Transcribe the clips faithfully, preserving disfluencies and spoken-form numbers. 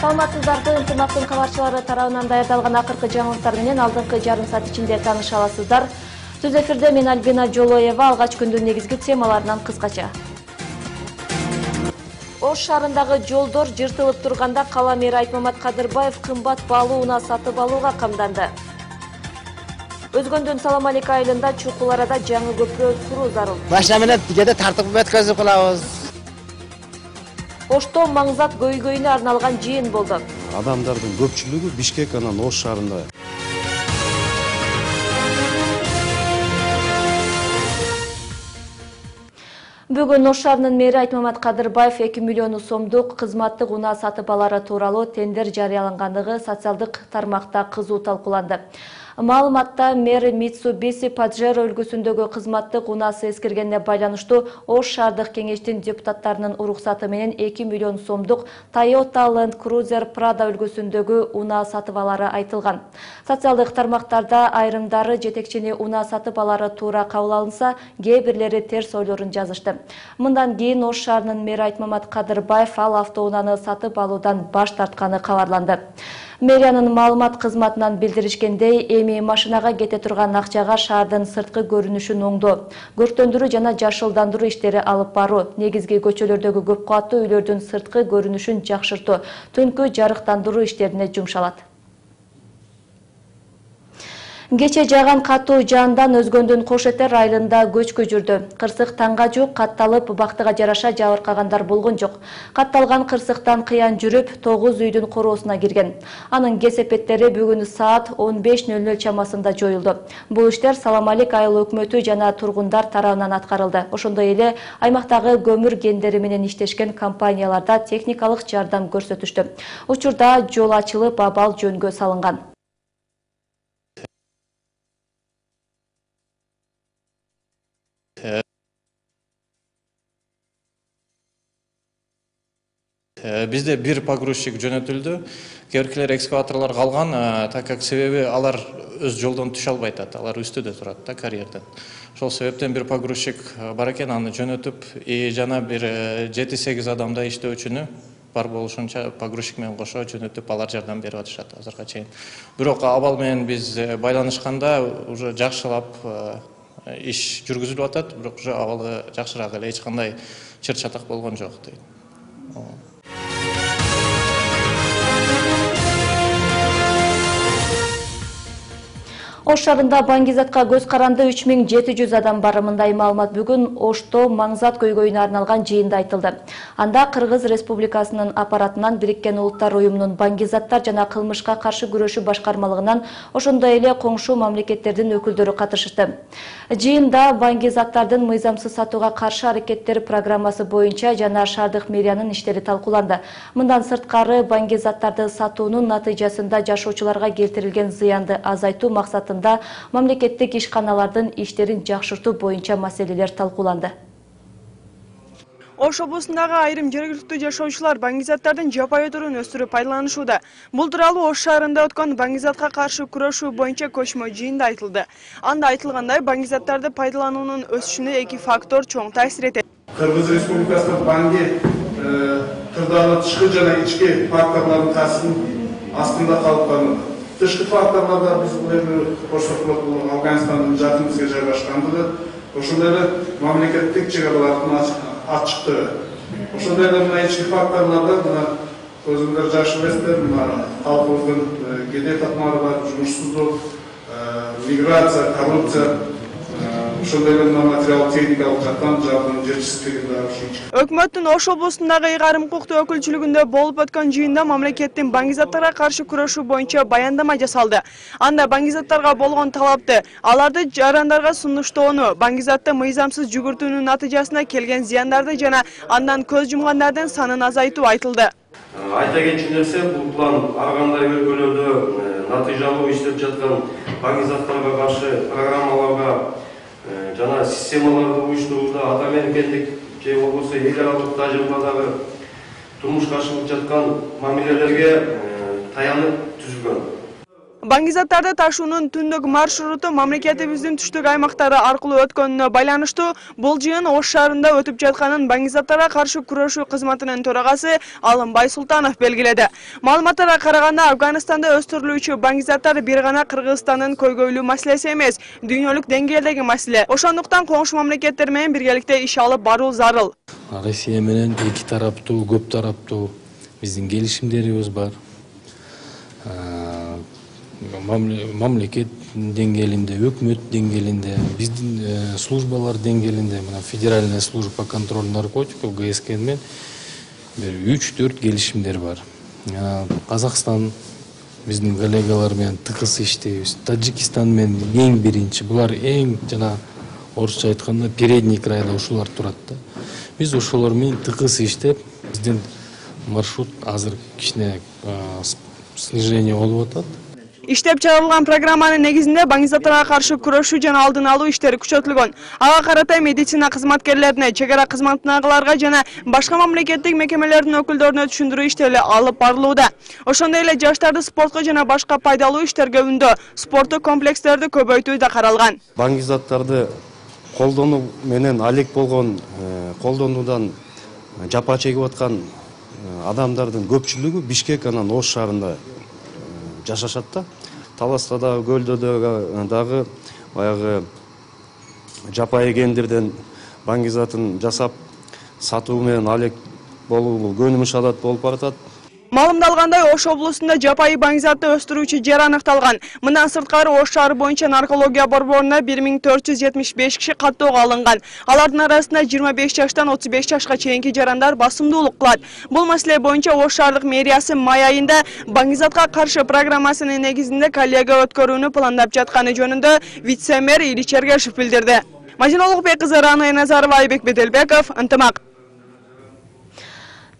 Саламатсыздарбы, ынтымактын кабарчылары тарабынан даярдалган акыркы жаңылыктар менен алдыңкы жарым саат ичинде тааныша аласыздар. Түз эфирде мен Альбина Жолоева, алгач күндүн негизги темаларынан кыскача. Ош шаарындагы жолдор жыртылып турганда кала мэри Айтмамат Кадырбаев кымбат баалуу унаа сатып алууга камданды. Өзгөндүн Салам Алейка айылында чукул арада жаңы көпүрө куруу зарыл. Машина менен кээде тартып өткөзүп калабыз. Ошто Маңзат көйгөйүнө арналган жыйын болду. Адамдардын көпчүлүгү Бишкек анан Ош шаарында. Бүгүн Ош шаарынын мэри Айтмамат Кадырбаев эки миллион сомдук кызматтык унаа сатып алары тууралуу тендер жарыялангандыгы социалдык тармакта кызуу талкууланды. Маалыматта мэр Митсубиси Паджеро өлкөсүндөгү кызматтык унаасы эскергенине байланыштуу Ош шаардык кеңештин депутаттарынын уруксаты менен эки миллион сомдук Toyota Land Cruiser Prado өлкөсүндөгү унаа сатып алары айтылган. Социалдык тармактарда айрымдары жетекчини унаа сатып алары туура кабыл алынса, кээ бирлери терс ойлорун жазышты. Мындан кийин Ош шаарынын мэри Айтмамат Кадырбаев ал автоунааны сатып алуудан баш тартканы кабарланды. Мэриянын маалымат кызматынан билдиришкендей, эми машинага кете турган акчага шаардын сырткы көрүнүшүн оңдоо, көрктөндүрүү жана жашылдандыруу иштери алып баруу, негизги көчөлөрдөгү көп кабаттуу үйлөрдүн сырткы көрүнүшүн жакшыртуу, түнкү жарыктандыруу иштерине жумшалат. Кече жааган катуу жаандан Өзгөндүн Кош Этер айылында көчкү жүрдү. Кырсык таңга жук катталып, бактыга жараша жабыркагандар болгон жок. Катталган кырсыктан кыян жүрүп, тогуз үйдүн короосуна кирген. Анын кесепеттери бүгүн саат он беш нөл нөл чамасында жоюлду. Бул иштер Салам Алейка айыл өкмөтү жана тургундар тарабынан аткарылды. Ошондой эле аймактагы көмүр кендери менен иштешкен компанияларда техникалык жардам көрсөтүштү. Учурда жол ачылып, абал жөнгө салынган. Бизде бир погрузчик жөнөтүлдү. Кээбиркилер экскаваторлор калган, так как себеби алар өз жолдон түшө албайт, алар үстүдө турат да карьерден. Ошол себептен бир погрузчик бар экен, аны жөнөтүп, и жана бир жети сегиз адамдай иштөөчүнү бар болушунча погрузчик менен кошо жөнөтүп, алар жардам берип атышат азырга чейин. Бирок абал менен биз байланышканда уже жакшылап иш жүргүзүлүп атат, бирок уже абалы жакшыраак эле, эч кандай чыр чатак болгон жок дейт. Ош шаарында Баңгизатка көз каранды үч миң жети жүз адам бар. Мындай маалымат бүгүн Ошто Маңзат көйгөйүнө арналган жыйында айтылды. Анда Кыргыз Республикасынын аппаратынан Бириккен Улуттар уюмунун Баңгизаттар жана кылмышка каршы күрөшүү башкармалыгынан, ошондой эле коңшу мамлекеттердин өкүлдөрү катышты. Жыйында Баңгизаттардын мыйзамсыз сатууга каршы аракеттер программасы боюнча жана шаардык мэриянын иштери талкууланды. Мындан сырткары Баңгизаттарды сатуунун натыйжасында жашоочуларга келтирилген зыянды азайтуу максатында мамлекеттик ишканалардын иштерин жакшыртуу боюнча маселелер талкууланды. Ош облусундагы айрым жергиликтүү жашоочулар Баңгизаттардын жапайы түрүн өстүрүп пайдаланышууда. Бул тууралуу Ош шаарында өткөн Баңгизатка каршы күрөшүү боюнча көчмө жыйында айтылды. Анда айтылгандай, Баңгизаттарды пайдалануунун өсүшүнө эки фактор чоң таасир этет. Кыргыз Республикасында Баңги кырдаалы тышкы жана ички факторлордун таасиринин астында калып калды. Тышкы факторларда биз бул Ош өкмөтү Афганистандын жакын бизге жайгашкандыгы, ошондой эле мамлекеттик чек аралардын ачыктыгы. Ошондой эле мына ички факторларда мына өзүңөр жакшы билесиздер, мына калкыбыздын кедей татмары бар, жумушсуздук, миграция, коррупция, ошондой эле материалдык техникалык жактан жардам жетишсиздиги да ушунча. Өкмөттүн Ош облусундагы ыйгарым укуктуу өкүлчүлүгүндө болуп өткөн жыйында мамлекеттин Баңгизаттарга каршы күрөшүү боюнча баяндама жасалды. Анда Баңгизаттарга болгон талапты, аларды жарандарга сунуштоону, Баңгизатты мыйзамсыз жүгүртүүнүн натыйжасында келген зыяндарды жана андан көз жумгандардын санын азайтуу айтылды. Айта кетчү нерсе, бул план ар кандай өлкөлөрдө натыйжалуу иштеп жаткан Баңгизаттарга каршы программаларга жана системаларды уюштурууда ата мемлекеттик же болбосо эл аралык тажрыйбадагы турмушка ашырылып жаткан мамилелерге таянып түзүлгөн. Баңгизаттарды ташуунун түндүк маршруту мамлекетибиздин түштүк аймактары аркылуу өткөнүнө байланыштуу бул жыйын Ош шаарында өтүп жатканын Баңгизаттарга каршы күрөшүү кызматынын төрагасы Алымбай Султанов белгиледи. Маалыматтарга караганда Афганистанда өстүрүлүүчү баңгизаттар бир гана Кыргызстандын көйгөйлүү маселеси эмес, дүйнөлүк деңгээлдеги маселе. Ошондуктан коңшу мамлекеттер менен биргеликте иш алып баруу зарыл. Россия менен эки тараптуу, көп тараптуу биздин келишимдерибиз бар. Мамлекет деңгээлинде, өкмөт деңгээлинде, биздин службалар деңгээлинде, мына федеральная служба по контролю наркотиков ГСК менен бир үч төрт келишимдер бар. Казакстан биздин коллегалар менен тыкыз иштейбиз. Таджикистан менен эң биринчи, булар эң жана орусча айтканда передний крайда ушулар турат да. Биз ошолор менен тыкыз иштеп, биздин маршрут азыр кичине снижение болуп атат. Иштеп чыгарылган программанын негизинде баңгизаттарга каршы күрөшүү жана алдын алуу иштери күчөтүлгөн. Ага карата медицина кызматкерлерине, чек ара кызматындагыларга жана башка мамлекеттик мекемелердин өкүлдөрүнө түшүндүрүү иштери алып барылууда. Ошондой эле жаштарды спортко жана башка пайдалуу иштерге үндөө, спорттук комплекстерди көбөйтүү да каралган. Баңгизаттарды колдонуу менен алек болгон, колдонуудан жапа чегип аткан адамдардын көпчүлүгү Бишкек анан Ош шаарында жашашат да. Таласта да, Көлдө дагы баягы жапайы кендирден баңгизатын жасап сатуу менен алек болуу көнүмүш адат болуп баратат. Маалымдалгандай, Ош облусунда жапайы баңгизатты өстүрүүчү жер аныкталган. Мындан сырткары Ош шаары боюнча наркология борборуна бир миң төрт жүз жетимиш беш киши каттоого алынган. Алардын арасында жыйырма беш жаштан отуз беш жашка чейинки жарандар басымдуулук кылат. Бул маселе боюнча Ош шаардык мэриясы май айында баңгизатка каршы программасынын негизинде коллега өткөрүүнү пландап жатканы жөнүндө вице-мэр Илич Эргешев билдирди. Мадина Улукбек кызы, Рана Назарова, Айбек Беделбеков, ынтымак.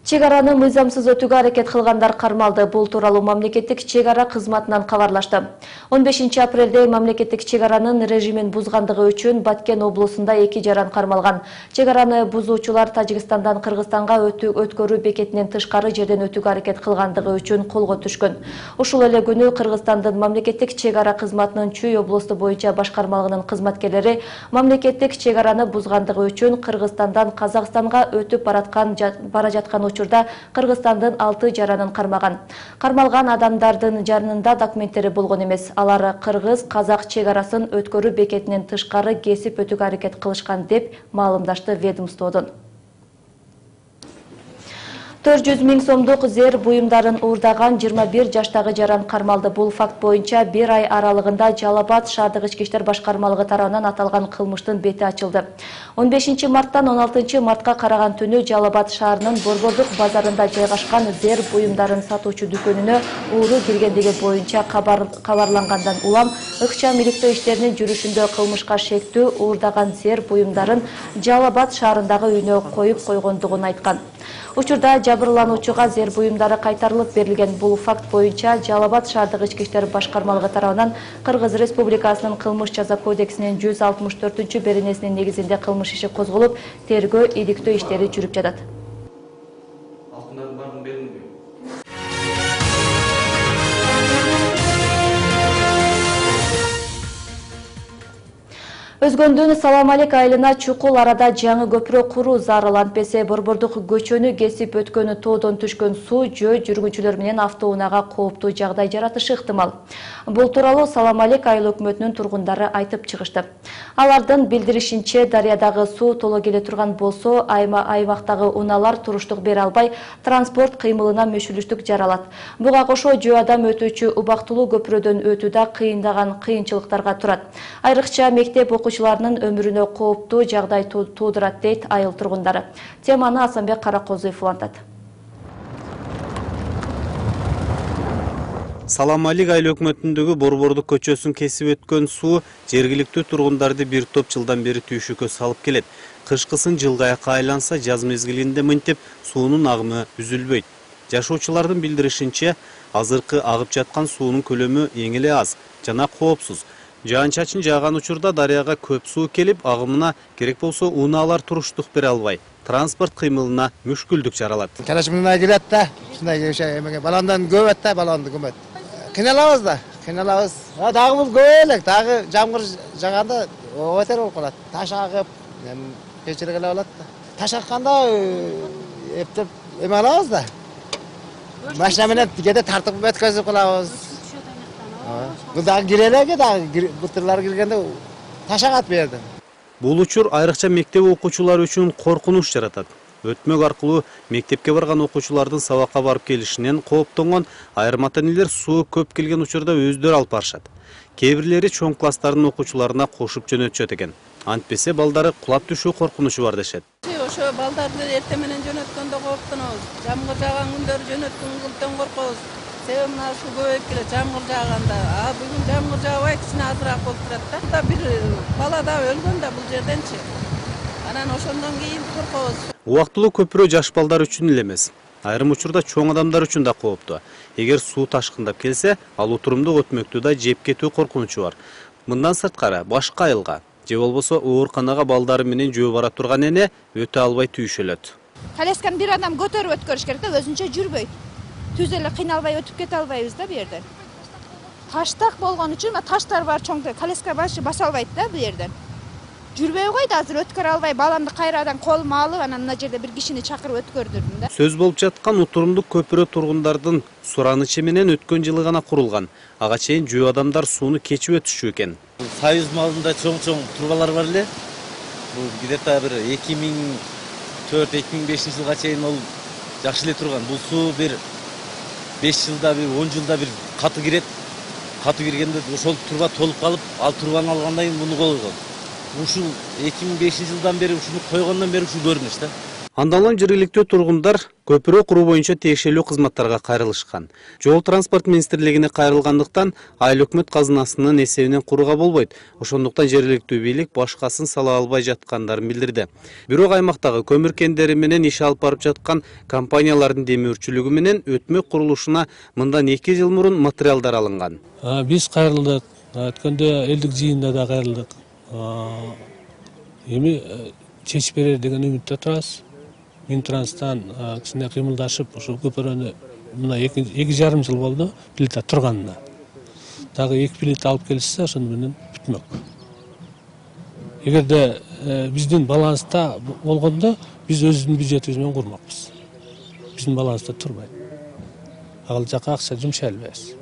Чек араны мыйзамсыз өтүүгө аракет кылгандар кармалды. Бул тууралуу мамлекеттик чек ара кызматынан кабарлашты. он бешинчи апрелде мамлекеттик чек аранын режимин бузгандыгы үчүн Баткен облусунда эки жаран кармалган. Чек араны бузуучулар Тажикстандан Кыргызстанга өткөрүү бекетинен тышкары жерден өтүүгө аракет кылгандыгы үчүн колго түшкөн. Ушул эле күнү Кыргызстандын мамлекеттик чек ара кызматынын Чүй облусту боюнча башкармалыгынын кызматкерлери мамлекеттик чек араны бузгандыгы үчүн Кыргызстандан Казакстанга өтүп бараткан бара жаткан учурда Кыргызстандын алты жаранын кармаган. Кармалган адамдардын жанында документтери болгон эмес. Алар кыргыз казак чек арасын өткөрүү бекетинен тышкары кесип өтүүгө аракет кылышкан деп маалымдашты ведомстводон. төрт жүз миң сомдук зер буюмдарын уурдаган жыйырма бир жаштагы жаран кармалды. Бул факт боюнча бир ай аралыгында Жалал Абад шаардык ички иштер башкармалыгы тарабынан аталган кылмыштын бети ачылды. он бешинчи марттан он алтынчы мартка караган түнү Жалал Абад шаарынын Борбордук базарында жайгашкан зер буюмдарын сатуучу дүкөнүнө ууру киргендиги боюнча кабарлангандан улам ыкчам иликтөө иштеринин жүрүшүндө кылмышка шектүү уурдаган зер буюмдарын Жалал Абад шаарындагы үйүнө коюп койгондугун айткан. Учурда жабырлануучуга зер буюмдары кайтарылып берилген. Бул факт боюнча Жалал Абад шаардык ички иштер башкармалыгы тарабынан Кыргыз Республикасынын кылмыш жаза кодексинин жүз алтымыш төртүнчү беренесинин негизинде кылмыш иши козголуп, тергөө иликтөө иштери жүрүп жатат. Өзгөндүн Салам алейк айылына чукул арада жаңы көпүрө куруу зарыл. Антпесе Борбордук көчөнү кесип өткөнү тоодон түшкөн суу жөө жүргүнчүлөр менен автоунаага кооптуу жагдай жаратышы ыктымал. Бул тууралуу Салам алейк айыл өкмөтүнүн тургундары айтып чыгышты. Алардын билдиришинче, дарыядагы суу толо келе турган болсо, аймактагы унаалар туруштук бере албай, транспорт кыймылына мүшүлүштүк жаралат. Буга кошо жөө адам өтүүчү убактылуу көпүрөдөн өтүүдө кыйындаган кыйынчылыктарга турат. Айрыкча мектеп окуучуларынын өмүрүнө кооптуу жагдай туудурат дейт айыл тургундары. Теманы Асанбек Каракозуев улантат. Салам алейк айыл өкмөтүндөгү Борбордук көчөсүн кесип өткөн суу жергиликтүү тургундарды бир топ жылдан бери түйшүккө салып келет. Кышкысын жылгайакка айланса, жаз мезгилинде мынтип суунун агымы үзүлбөйт. Жашоочулардын билдиришинче, азыркы агып жаткан суунун көлөмү эң эле аз жана коопсуз. Жаан-чачын жааган учурда дарыяга көп суу келип, агымына керек болсо унаалар туруштук бере албай, транспорт кыймылына мүшкүлдүк жаралат. Келеш мындай келет да, ушундай баландан көбөт да, баланды көбөт. Кыйналабыз да, кыйналабыз. Дагы бул көп элек, дагы жамгыр жаганда өтөр болуп калат. Таш агып, кечире келе болот да. Таш акканда эптеп эме алабыз да. Машина менен кээде тартып өткөзүп калабыз. Бул дагы кирелеги дагы бутырлар киргенде таш агат бу жерден. Бул учур айрыкча мектеп окуучулары үчүн коркунуч жаратат. Өтмөк аркылуу мектепке барган окуучулардын сабакка барып келишинен кооптонгон айрым ата-энелер суу көп келген учурда өздөрү алып барышат. Кээ бирлери чоң класстардын окуучуларына кошуп жөнөтүшөт экен. Антпесе балдары кулап түшүү коркунучу бар дешет. Ошо балдарды эртең менен жөнөткөндө кооптонобуз. Жамгыр жааган күндөрү жөнөткөндөн коркобуз. Себеби мына суу көбөйүп келет жамгыр жааганда. А бүгүн жамгыр жаабай кичине азыраак болуп турат да. Бир бала да өлгөн да бул жерденчи. Анан ошондон кийин коркобуз. Убактылуу көпүрө жаш балдар үчүн эле эмес. Айрым учурда чоң адамдар үчүн да кооптуу. Эгер суу ташкындап келсе, ал отурумдук өтмөктү да жеп кетүү коркунучу бар. Мындан сырткары башка айылга же болбосо ооруканага балдары менен жөө бара турган эне өтө албай түйшөлөт. Колясканы бир адам көтөрүп өткөрүш керек да, өзүнчө жүрбөйт. Түз эле кыйналбай өтүп кете албайбыз да бу жерден. Таштак болгон үчүн таштар бар чоң, коляска башы баса албайт да бу жерден. Жүрбөй койду, азыр өткөрө албай, баламды кайрадан колума алып, анан мына жерде бир кишини чакырып өткөрдүрдүм да. Сөз болуп жаткан отурумдук көпүрө тургундардын суранычы менен өткөн жылы гана курулган. Ага чейин жөө адамдар сууну кечип өтүшчү экен. Союз малында чоң-чоң трубалар бар эле. Бул где-то бир эки миң төрт эки миң бешинчи жылга чейин ол жакшы эле турган. Бул суу бир беш жылда бир он жылда бир каты кирет. Каты киргенде ошол труба толуп калып, ал трубаны алгандан кийин муну койгон. Ушул эки миң бешинчи жылдан бери ушуну койгондон бери ушул көрүнүш да. Андан соң жергиликтүү тургундар көпүрө куруу боюнча тиешелүү кызматтарга кайрылышкан. Жол транспорт министрлигине кайрылгандыктан айыл өкмөт казынасынын эсебинен курууга болбойт. Ошондуктан жергиликтүү бийлик башкасын сала албай жаткандарын билдирди. Бирок аймактагы көмүр кендери менен иш алып барып жаткан компаниялардын демөөрчүлүгү менен өтмөк курулушуна мындан эки жыл мурун материалдар алынган. Биз кайрылдык. Өткөндө элдик жыйында да кайрылдык. Эми чечип берер деген үмүттө турабыз. Минтранстан кичине кыймылдашып, ошол көпүрөнү мына эки жарым жыл болду плита турганына. Дагы эки плита алып келишсе, ошону менен бүтмөк. Эгерде биздин баланста болгондо, биз өзүбүздүн бюджетибиз менен курмакпыз. Биздин баланста турбайт. Ал жака акча жумшай албайбыз.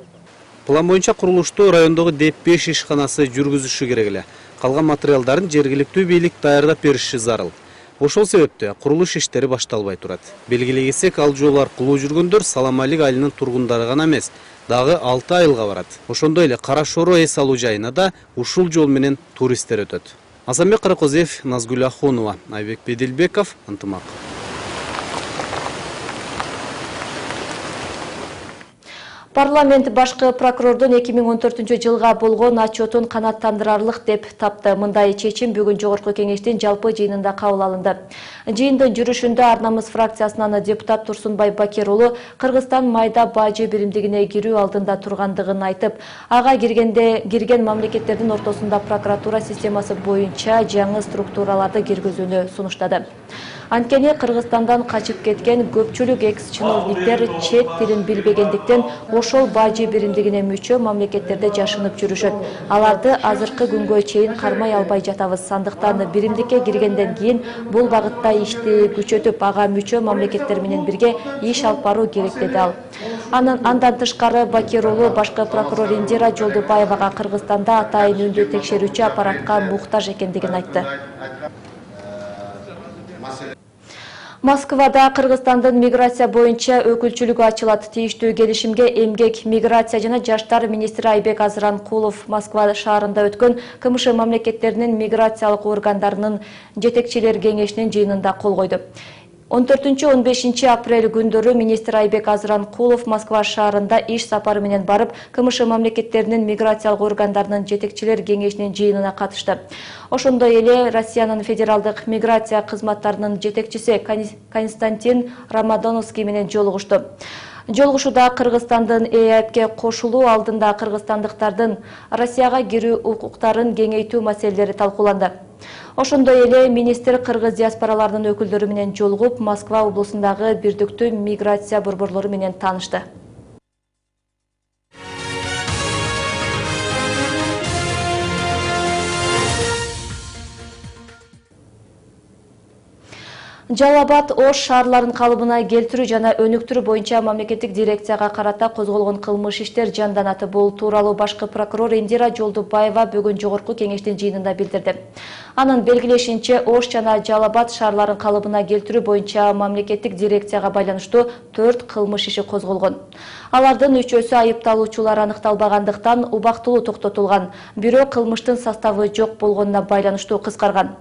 План боюнча курулушту райондогу деп беш ишканасы жүргүзүшү керек эле. Калган материалдарын жергиликтүү бийлик даярдап бериши зарыл. Ошол себептен курулуш иштери башталбай турат. Белгилей кетсек, ал жол аркылуу жүргөндөр Саламалик айылынын тургундары гана эмес, дагы алты айылга барат. Ошондой эле Кара Шоро эс алуу жайына да ушул жол менен туристтер өтөт. Азамбек Каракозиев, Назгүл Ахунова, Айбек Бедилбеков, Ынтымак. Парламент башкы прокурордун эки миң он төртүнчү жылга болгон отчетун канааттандырарлык деп тапты. Мындай чечим бүгүн жогорку кеңештин жалпы жыйынында кабыл алынды. Жыйындын жүрүшүндө Ар намыс фракциясынан депутат Турсунбай Бакир уулу Кыргызстан майда бажы биримдигине кирүү алдында тургандыгын айтып, ага киргенде кирген мамлекеттердин ортосунда прокуратура системасы боюнча жаңы структураларды киргизүүнү сунуштады. Анткени Кыргызстандан качып кеткен көпчүлүк экс-чиновниктер чет тилин билбегендиктен ошол бажы биримдигине мүчө мамлекеттерде жашынып жүрүшөт. Аларды азыркы күнгө чейин кармай албай жатабыз. Андыктан биримдикке киргенден кийин бул багытта ишти күчөтүп, ага мүчө мамлекеттер менен бирге иш алып баруу керек деди ал. Анан андан тышкары Бакир уулу башкы прокурор Индира Жолдубаевага Кыргызстанда атайын үндү текшерүүчү аппаратка муктаж экендигин айтты. Москвада Кыргызстандын миграция боюнча өкүлчүлүгү ачылат. Тийиштүү келишимге эмгек, миграция жана жаштар министри Айбек Азыранкулов Москва шаарында өткөн КМШ мамлекеттеринин миграциялык органдарынын жетекчилер кеңешинин жыйынында кол койду. он төртүнчү он бешинчи апрель күндөрү министр Айбек Азыранкулов Москва шаарында иш сапары менен барып, КМШ мамлекеттеринин миграциялык органдарынын жетекчилер кеңешинин жыйынына катышты. Ошондой эле Россиянын федералдык миграция кызматтарынын жетекчиси Константин Рамадоновский менен жолугушту. Жолугушууда Кыргызстандын Э Эпке кошулуу алдында кыргызстандыктардын Россияга кирүү укуктарын кеңейтүү маселелери талкууланды. Ошондой эле министр кыргыз диаспораларынын өкүлдөрү менен жолугуп, Москва облусундагы бирдиктүү миграция борборлору менен таанышты. Жалал Абад Ош шаарларын калыбына келтирүү жана өнүктүрүү боюнча мамлекеттик дирекцияга карата козголгон кылмыш иштер жанданаты. Бул тууралуу башкы прокурор Индира Жолдубаева бүгүн жогорку кеңештин жыйынында билдирди. Анын белгилешинче, Ош жана Жалал Абад шаарларын калыбына келтирүү боюнча мамлекеттик дирекцияга байланыштуу төрт кылмыш иши козголгон. Алардын үчөөсү айыпталуучулар аныкталбагандыктан убактылуу токтотулган, бирок кылмыштын составы жок болгонуна байланыштуу кыскарган.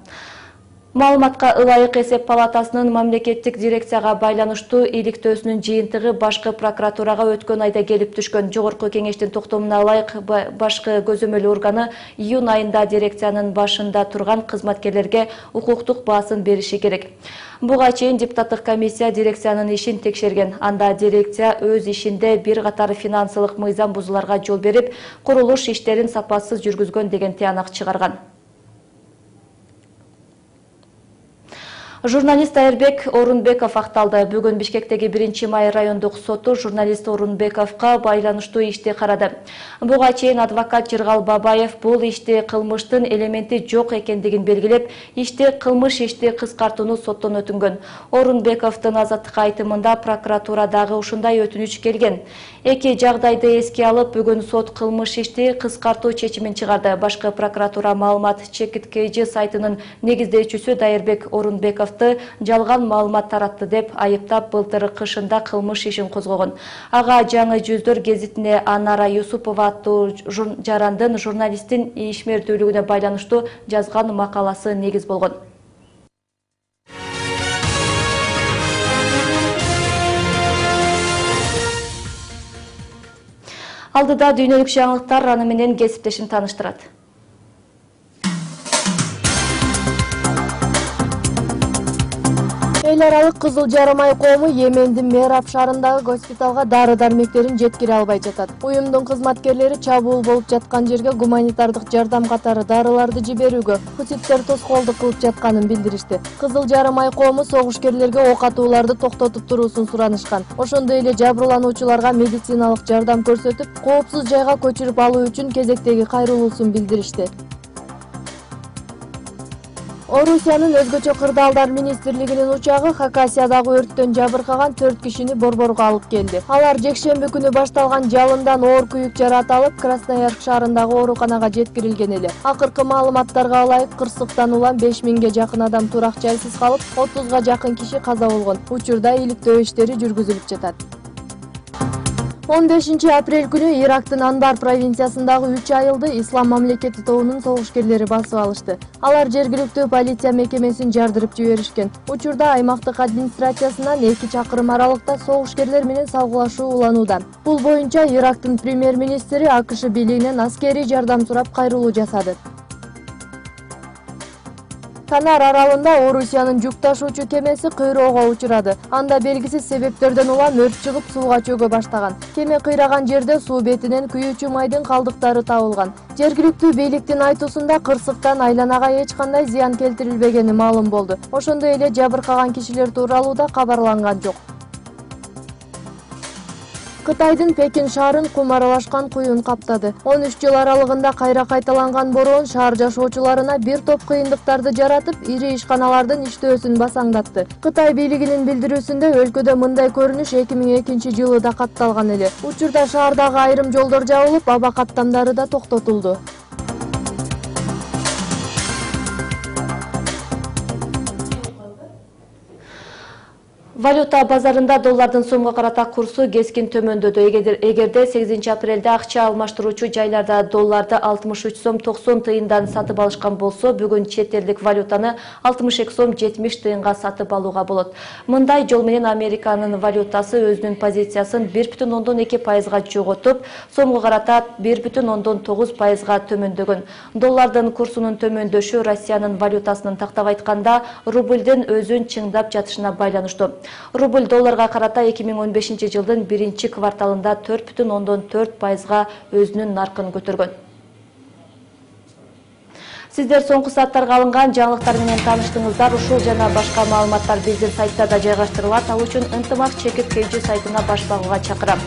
Маалыматка ылайык эсеп палатасынын мамлекеттик дирекцияга байланыштуу иликтөөсүнүн жыйынтыгы башкы прокуратурага өткөн айда келип түшкөн. Жогорку кеңештин токтомуна ылайык башкы көзөмөл органы июнь айында дирекциянын башында турган кызматкерлерге укуктук баасын бериши керек. Буга чейин депутаттык комиссия дирекциянын ишин текшерген. Анда дирекция өз ишинде бир катар финансылык мыйзам бузууларга жол берип, курулуш иштерин сапасыз жүргүзгөн деген тыянак чыгарган. Журналист Айырбек Орунбеков акталды. Бүгүн Бишкектеги биринчи май райондук соту журналист Орунбековго байланыштуу ишти карады. Буга чейин адвокат Жыргал Бабаев бул ишти кылмыштын элементи жок экендигин белгилеп, ишти кылмыш ишти кыскартууну соттон өтүнгөн. Орунбековдун азаттыкка айтымында прокуратурадагы ушундай өтүнүч келген. Эки жагдайды эске алып, бүгүн сот кылмыш ишти кыскартуу чечимин чыгарды. Башкы прокуратура маалымат чекиткейжи сайтынын негиздөөчүсү Дайырбек Орунбеков жалган маалымат таратты деп айыптап, былтыр кышында кылмыш ишин козгогон. Ага Жаңы жүздөр гезитине Анара Юсупова аттуу жарандын журналисттин ишмердүүлүгүнө байланыштуу жазган макаласы негиз болгон. Алдыда дүйнөлүк жаңылыктар, аны менен кесиптешим тааныштырат. Эл аралык Кызыл жарым ай коому Йемендин Мераб шаарындагы госпиталга дары-дармектерин жеткире албай жатат. Уюмдун кызматкерлери чабуул болуп жаткан жерге гуманитардык жардам катары дарыларды жиберүүгө, хуситтер тоскоолдук кылып жатканын билдиришти. Кызыл жарым ай коому согушкерлерге ок атууларды токтотуп туруусун суранышкан. Ошондой эле жабырлануучуларга медициналык жардам көрсөтүп, коопсуз жайга көчүрүп алуу үчүн кезектеги кайрылуусун билдиришти. Орусиянын өзгөчө кырдаалдар министрлигинин учагы Хакасиядагы өрттөн жабыркаган төрт кишини Борборго алып келди. Алар жекшемби күнү башталган жалындан оор күйүк жаракат алып, Красноярск шаарындагы ооруканага жеткирилген эле. Акыркы маалыматтарга ылайык, кырсыктан улам беш миңге жакын адам турак жайсыз калып, отузга жакын киши каза болгон. Учурда иликтөө иштери жүргүзүлүп жатат. он бешинчи апрель күнү Ирактын Анбар провинциясындагы үч айылды Ислам мамлекети тобунун согушкерлери басып алышты. Алар жергиликтүү полиция мекемесин жардырып жиберишкен. Учурда аймактык администрациясынан эки чакырым аралыкта согушкерлер менен салгылашуу уланууда. Бул боюнча Ирактын премьер-министри АКШ бийлигинен аскерий жардам сурап кайрылуу жасады. Канар аралында Орусиянын жүк ташуучу кемеси кыйроого учурады. Анда белгисиз себептерден улам өрт чыгып, сууга чөгө баштаган. Кеме кыйраган жерде суу бетинен күйүүчү майдын калдыктары табылган. Жергиликтүү бийликтин айтуусунда кырсыктан айланага эч кандай зыян келтирилбегени маалым болду. Ошондой эле жабыркаган кишилер тууралуу да кабарланган жок. Кытайдын Пекин шаарын кум аралашкан куюн каптады. он үч жыл аралыгында кайра кайталанган бороон шаар жашоочуларына бир топ кыйындыктарды жаратып, ири ишканалардын иштөөсүн басаңдатты. Кытай бийлигинин билдирүүсүндө өлкөдө мындай көрүнүш эки миң экинчи жылы да катталган эле. Учурда шаардагы айрым жолдор жабылып, аба каттамдары да токтотулду. Валюта базарында доллардын сомго карата курсу кескин төмөндөдү. Эгерде сегизинчи апрелде акча алмаштыруучу жайларда долларды алтымыш үч сом токсон тыйындан сатып алышкан болсо, бүгүн чет элдик валютаны алтымыш эки сом жетимиш тыйынга сатып алууга болот. Мындай жол менен Американын валютасы өзүнүн позициясын бир бүтүн ондон эки пайызга жоготуп, сомго карата бир бүтүн ондон тогуз пайызга төмөндөгөн. Доллардын курсунун төмөндөшү Россиянын валютасынын тактап айтканда рубльдин өзүн чыңдап жатышына байланыштуу. Рубль долларга карата эки миң он бешинчи жылдын биринчи кварталында төрт бүтүн ондон төрт пайызга өзүнүн наркын көтөргөн. Сиздер соңку сааттарга алынган жаңылыктар менен тааныштыңыздар. Ушул жана башка маалыматтар биздин сайттарда жайгаштырылат. Ал үчүн ынтымак чекиткейчи сайтына баш багууга чакырам.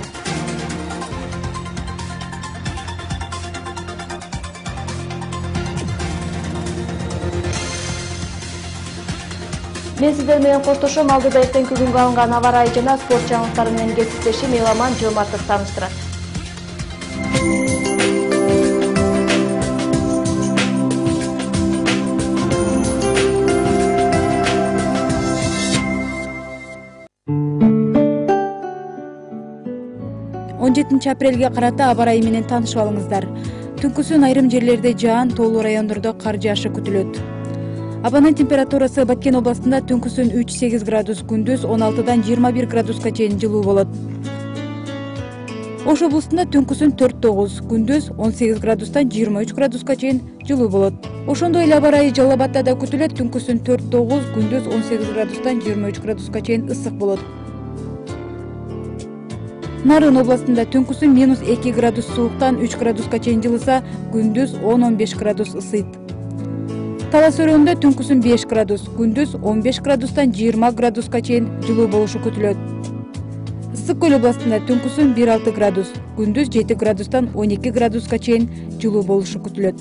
Мен сиздер менен коштошом. Алдыда эртеңки күнгө алынган аба ырайы жана спорт жаңылыктары менен кесиптешим Эламан Жомартов тааныштырат. он жетинчи апрелге карата аба ырайы менен таанышып алыңыздар. Түнкүсүн айрым жерлерде жаан, тоолуу райондордо кар жаашы күтүлөт. Абанын температурасы Баткен областында түнкүсүн үч сегиз градус, күндүз он алтыдан жыйырма бир градуска чейин жылуу болот. Ош областында түнкүсүн төрт тогуз, күндүз он сегиз градустан жыйырма үч градуска чейин жылуу болот. Ошондой эле аба ырайы Жалал Абадта да күтүлөт. Түнкүсүн төрт тогуз, күндүз он сегиз градустан жыйырма үч градуска чейин ысык болот. Нарын областында түнкүсүн минус эки градус сууктан үч градуска чейин жылыса, күндүз он он беш градус ысыйт. Талас өрөөнүндө түнкүсүн беш градус, күндүз он беш градустан жыйырма градуска чейин жылуу болушу күтүлөт. Ысык көл областында түнкүсүн бир алты градус, күндүз жети градустан он эки градуска чейин жылуу болушу күтүлөт.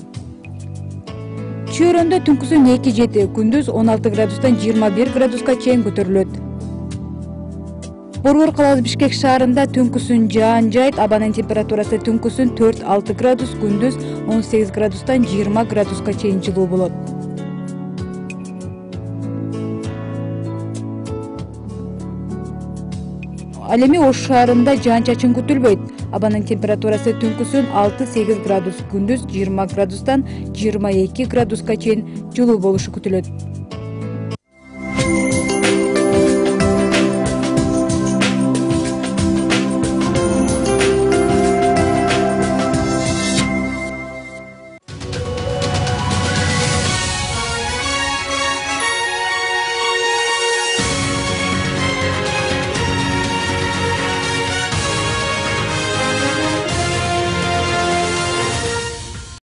Чүй-өрөндө түнкүсүн эки жети, күндүз он алты градустан жыйырма бир градуска чейин көтөрүлөт. Борбор каласы Бишкек шаарында түнкүсүн жаан жайт, абанын температурасы түнкүсүн төрт алты градус, күндүз он сегиз градустан жыйырма градуска чейин жылуу болот. Ал эми Ош шаарында жаан-чачын күтүлбөйт. Абанын температурасы түнкүсүн алты сегиз градус, күндүз жыйырма градустан жыйырма эки градуска чейин жылуу болушу күтүлөт.